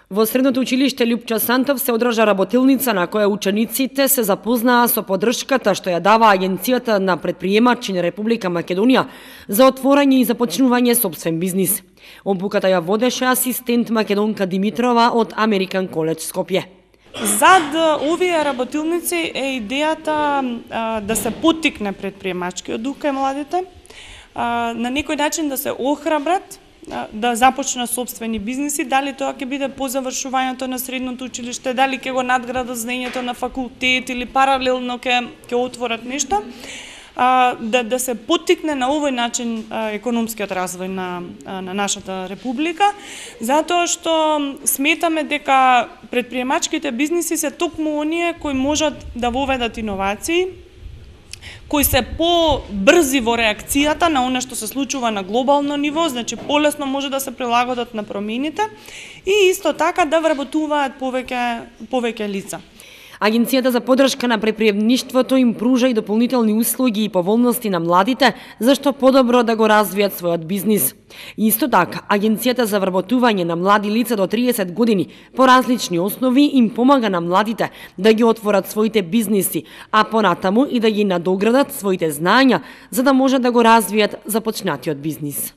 Во Средното училиште Љупча Сантов се одржа работилница на која учениците се запознаа со поддршката што ја дава Агенцијата на предприемачи на Република Македонија за отворање и започнување сопствен бизнис. Обуката ја водеше асистент Македонка Димитрова од Американ Коледж Скопје. Зад овие работилници е идејата да се поттикне предприемачкиот дух кај младите, на некој начин да се охрабрат да започнат сопствени бизниси, дали тоа ќе биде по завршувањето на средното училиште, дали ќе го надградат знаењето на факултет или паралелно ќе отворат нешто, да се поттикне на овој начин економскиот развој на нашата република, затоа што сметаме дека предприемачките бизниси се токму оние кои можат да воведат иновации, кои се по-брзи во реакцијата на она што се случува на глобално ниво, значи полесно може да се прилагодат на промените и исто така да вработуваат повеќе лица. Агенцијата за поддршка на предприемништвото им пружа и дополнителни услуги и поволности на младите, зашто подобро да го развијат својот бизнис. Исто така, Агенцијата за вработување на млади лица до 30 години по различни основи им помага на младите да ги отворат своите бизниси, а понатаму и да ги надоградат своите знаења за да можат да го развијат започнатиот бизнис.